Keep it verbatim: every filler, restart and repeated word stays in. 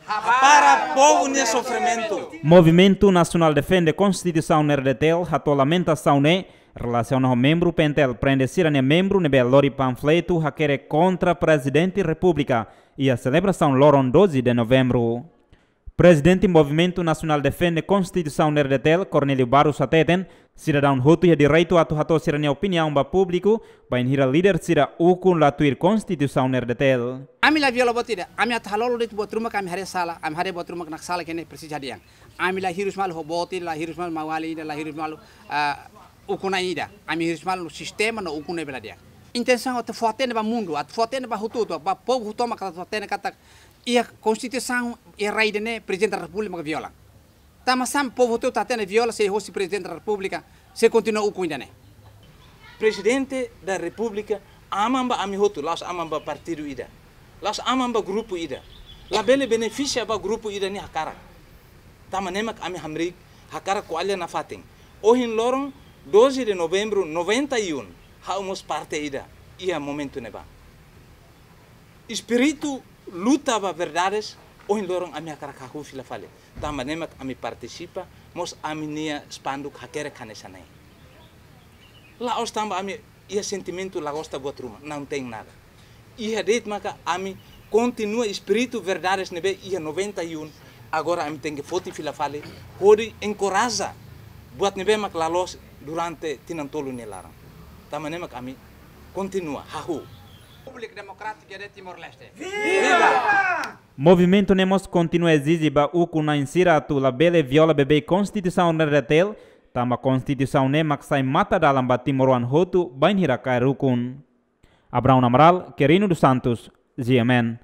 Hapara povu nia sofrimentu. Movimentu Nasionál Defende Konstituisaun R D T L hato'o lamentasaun ne'e relasiona ho membru P N T L prende sira-nia membru ne'ebé lori panfletu hakerek kontra Prezidente Repúblika iha selebrasaun loron doze de Novembru. Prezidente Movimentu Nasionál Defende Konstituisaun R D T L, Cornélio Barros hateten, sidadaun hotu iha direitu atu hato'o sira-nia opiniaun ba públiku, bainhira líder sira ukun la tuir Konstituisaun R D T L. Ami la viola buat ida, ami atu halolo de'it buat ruma katak ami haree sala, ami haree buat ruma katak sala ne'e presiza hadi'a. Ami la hirus malu ho boot ida, la hirus malu maun-alin ida, la hirus malu, ah, ukun-na'in ida. Ami hirus malu sistema no ukun ne'ebé la di'ak. Intensaun atu fó-hatene ba mundu, atu fó-hatene ba hotu-hotu, ba povu hotu-hotu maka atu fó-hatene katak iha Konstituisaun, iha rai ida-ne'e Prezidente da Repúblika maka viola. Tanba sá mak povu hotu-hotu hatene viola sei hosi Prezidente da Repúblika, sei kontinua ukun ida-ne'e. Prezidente da Repúblika aman ba ami hotu, la'ós aman ba partidu ida. La'ós aman ba grupu ida. Labele benefisia ba grupu ida nia hakarak. Tanba ne'e mak ami hamriik hakarak ko'alia nafatin. Ohin loron doze de Novembru noventa e um, ha'u mós parte ida iha momentu ne'ebá. Espíritu luta ba verdades, ohin loron ami hakarak hahú fila fali. Tanba ne'e mak ami partisipa, mós ami-nia spanduk hakerek hanesan ne'e. La'ós tanba ami iha sentimentu la gosta buat ruma, não tem nada. Iha de'it maka ami kontinua espíritu verdades ne'ebé iha noventa e um, agora ami tenke foti fila fali, hodi enkoraja buat ne'ebé mak la loos durante tinan tolu nia laran. Tanba ne'e mak ami kontinua hahú. Repúblika Demokrátika de Timor-Leste. Movimentu ne'e mós kontinua ezije ba ukun-na'in sira atu labele viola beibeik Konstituisaun R D T L, tanba Konstituisaun ne'e mak sai matadalan ba timoroan hotu bainhira kaer ukun. Abraão Amaral, Querino dos Santos, G M N.